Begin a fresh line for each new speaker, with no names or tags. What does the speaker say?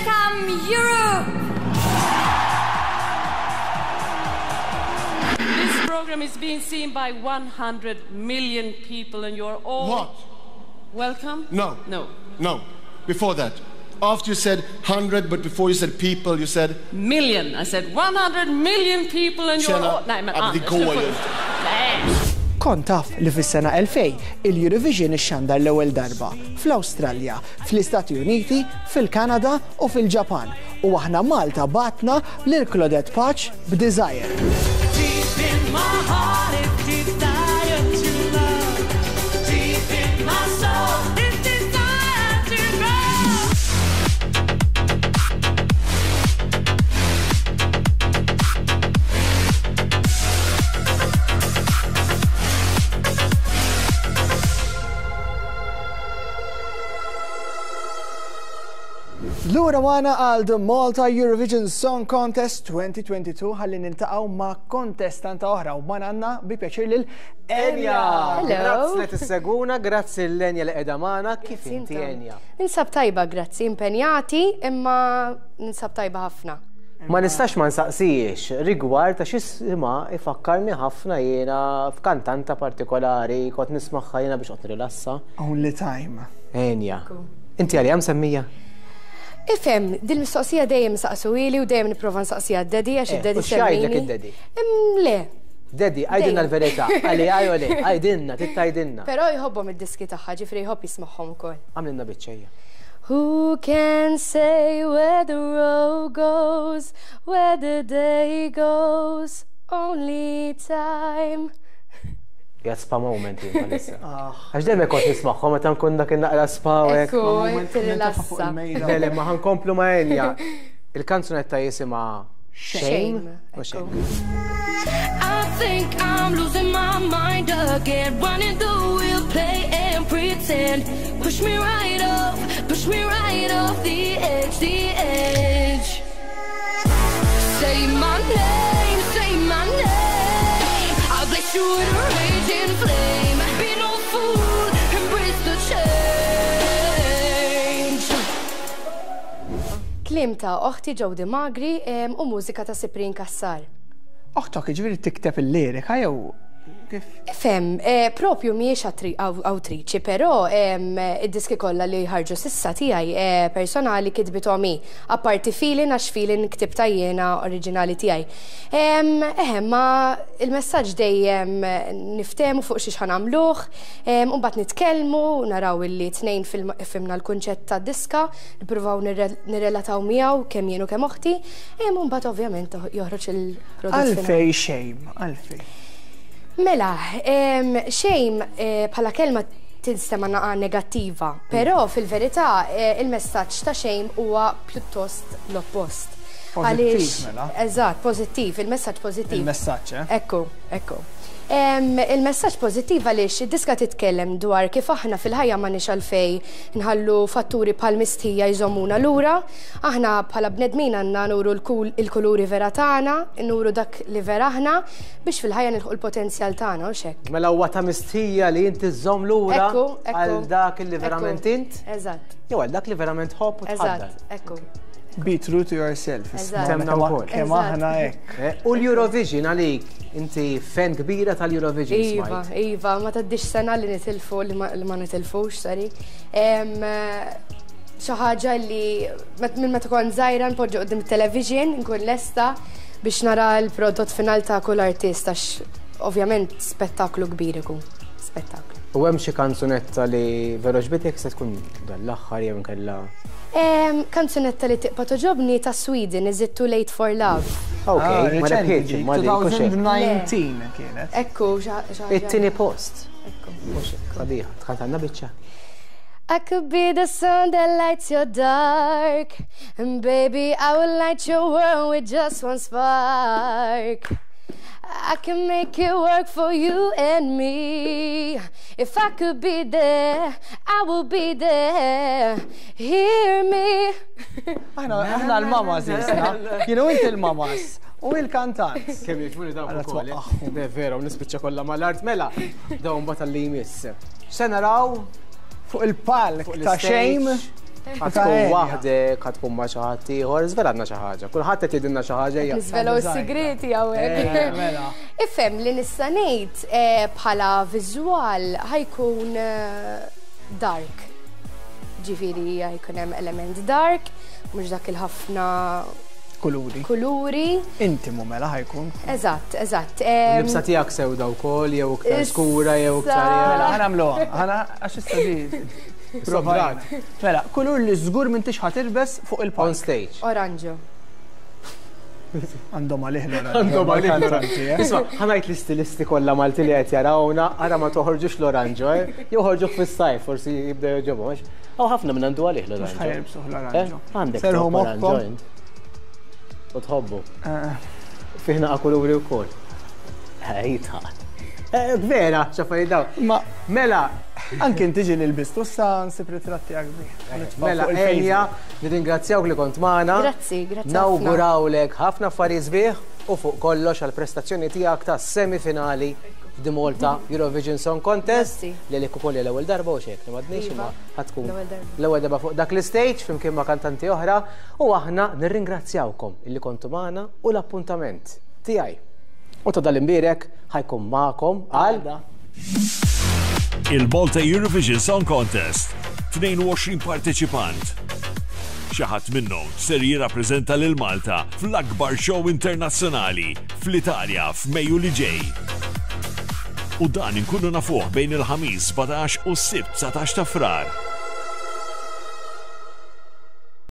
Welcome Europe!
This program is being seen by 100 million people and you're all...
What?
Welcome?
No.
No.
No. Before that. After you said 100, but before you said people, you said...
Million. I said 100 million people and you're
Tjena.
all... Nej men
Ja, men det
Anders,
går
du får
ju
inte. Nej.
Kont taf li fis-sena 2000 il-Eurovision ixxandar l-ewwel darba fl-Awstralja, fl-Istati Uniti, fil-Kanada u fil-Ġapan. U aħna Malta bgħatna lil Claudette Pace b'Desire.
Deep in my heart, it desire to love. Deep in my soul, it desire to grow.
Lura magħna għal The Malta Eurovision Song Contest 2022 ħalli niltaqgħu ma' kontestanta oħra u magħna għandna bi pjaċir lil Enja.
Hello.
Grazzi li tisseguna, grazzi l-Enja li qiegħda magħna, kif inti
intom.
Enja?
Ninsab tajba, grazzi, impenjati, imma ninsab tajba ħafna.
Ma nistax ma nsaqsijiex rigward ta' x'isma ifakkarni ħafna jiena f'kantanta partikolari, kont nismagħha jiena biex qed nirrilassa.
Only time.
Enja. Inti għalija msemmija?
Ifhem, dil-mistoqsija dejjem saqsuhieli u dejjem nipprova nsaqsija d-daddy għax
Eh,
id-daddy
u x'jgħidlek
semmini.
id-daddy?
Le.
Daddy, għajdilna
Dejjem.
l-verità, għalli għaj le, għajdilna, tittajdilna.
Però jħobbhom id-diski tagħha, ġifieri jħobb jismagħhom ukoll.
Għamlilna biċċejja.
Who can say where the road goes, where the day goes, only time.
Jgħad spa moment jien bħalissa. Għax dejjem kont nismagħhom meta nkun dak naqra spa u hekk.
Ekku,
Moment,
tirrilassa.
fuq il-mejda.
Le, le, ma ħankomplu ma' Enja. Il-kanzunetta jisimha Shame.
Shame,
U
ekku.
I think I'm losing my mind again. Running the wheel, play and pretend. Push me right off, push me right off the edge, the edge. Say my name, say my name. I'll bless you with a raging flame. Be no fool, embrace the change.
Kliem ta' oħti Jody Magri u mużika ta' Cyprian Cassar.
Oħtok ġifieri tikteb il-lirika jew kif?
Ifhem, propju mhijiex awtriċi, però id-diski kollha li ħarġu s'issa tiegħi personali kitbithom hi. Apparti Feeling għax Feeling ktibta jiena oriġinali tiegħi. Eħe, ma il-messaġġ dejjem niftehmu fuq xiex ħanamluh, u mbagħad nitkellmu, naraw illi tnejn fimna l-kunċett tad-diska, nippruvaw nirrelataw miegħu kemm jien u kemm oħti, u mbagħad ovvjament joħroġ il-prodott finali.
Għalfej shame, għalfej.
Mela, shame bħala kelma tinstema naqa negattiva, però fil-verità il-messaġġ ta' shame huwa pjuttost l-oppost.
Pożittiv,
Għaliex-
mela.
Eżatt, pożittiv, il-messaġġ pożittiv.
Il-messaġġ, eh?
Ekku, ekku. Il-messaġġ pożittiv għaliex id-diska titkellem dwar kif aħna fil-ħajja ma nix għalfej nħallu fatturi bħal mistħija jżommuna lura, aħna bħala bnedmin għandna nuru il-kuluri vera tagħna, nuru dak li vera aħna biex fil-ħajja nilħu l-potenzjal tagħna u xek.
Mela huwa ta' mistħija li inti żżomm lura
Ekku, ekku.
għal dak li verament
Ekku.
int,
Eżatt,
jew għal dak li verament ħobb u tħaddan.
eżatt, ekku.
Be true to yourself.
Eżatt.
Temna wkoll.
Kemm
Eżatt.
aħna hekk.
U l-Eurovision għalik, inti fan kbira tal-Eurovision
Iva,
smajt.
iva, ma taddix sena li nitilfu, li ma nitilfux, sorry. Xi ħaġa li minn meta kont żgħira npoġġu quddiem it-television, nkun lesta biex nara l-prodott final ta' kull artist, għax ovvjament spettaklu kbir ikun, spettaklu.
U hemm xi kanzunetta li veru ġbitek se tkun dan l-aħħar jew inkella
Kanzunetta li tibqa' toġobni ta' Sweden, Is It Too Late for Love?
Ok,
Ah,
ma
reċenti
rebħitx,
dik,
ma dik, u xejn.
2019 kienet.
Ekku, xi ħaġa.
It-tieni post.
Ekku.
Mhux hekk, sabiħa, tkantanna biċċa.
I could be the sun that lights your dark, and baby, I will light your world with just one spark. I can make it work for you and me. If I could be there, I will be there. Hear me.
Aħna aħna l-mamas jisna. Kienu inti l-mamas u il-kantant.
Kemm jifuni dawn
Alla
ukoll, eh?
twaqqagħhom.
Le vera, u nispiċċa kollha mal-art mela. Dawn mbagħad li jmiss. Se naraw
Fuq il-palk
Fuq
ta'
l-stage.
Shame.
Ħa tkun waħdek, ħa tkun ma' xi ħadd ieħor, żvelalna xi ħaġa. Kulħadd qed jgħidilna xi ħaġa hija.
Niżvelaw is-sigreti hawnhekk.
Mela.
Ifhem li nista' ngħid bħala viżwal ħa jkun dark. Ġifieri ħa jkun hemm element dark, mhux dak il-ħafna
Kuluri.
Kuluri.
Intimu mela ħa jkun.
Eżatt, eżatt.
Libsa tiegħek sewda wkoll jew iktar skura jew iktar.
Mela ħa nagħmluha, ħa għax issa di. Provajt. Mela, kulur li żgur m'intix ħa tilbes fuq il-palk.
On stage.
Oranġo.
Għandhom għalih l-oranġo.
Għandhom għalih
l-oranġo. Eh?
Isma', ħa ngħid l-istilisti kollha Malti li qed jarawna, ara ma toħorġux l-oranġo, eh? Jew ħorġuh fis-sajf, forsi jibda jogħġobhom. Hawn ħafna minn għandu għalih l-oranġo.
Mhux ħa jilbsuh l-oranġo.
Eh? Għandek
Serħu
oranġo
moħħkom.
int. U tħobbu.
Eh.
Fih naqa' kuluri wkoll. Ejta. Eh, vera, x'affarijiet dawn.
Ma
Mela,
anke inti ġieli lbistu issa nsib ritratt tiegħek bih. Nitfa'
Mela,
fuq il-Facebook.
Enya, nirringrazzjawk li kont magħna.
Grazzi, grazzi ħafna.
Nawgurawlek ħafna affarijiet sbieħ u fuq kollox għall-prestazzjoni tiegħek ta' semifinali f'The Malta Eurovision Song Contest.
Grazzi.
Li għalik ukoll hija l-ewwel darba u xejn li m'għadniex
Iva,
imma ħa tkun
l-ewwel darba.
l-ewwel darba fuq dak l-istage flimkien ma' kantanti oħra u aħna nirringrazzjawkom illi kontu magħna u l-appuntament tiegħi u ta' dal-imbierek ħa jkun magħkom għal
Il-Malta Eurovision Song Contest, 22 parteċipant. Xi ħadd minnhom ser jirrappreżenta lil Malta fl-akbar show internazzjonali fl-Italja f'Mejju li ġej. U dan inkunu nafuh bejn il-Ħamis 17 u s-Sibt 19 ta' Frar.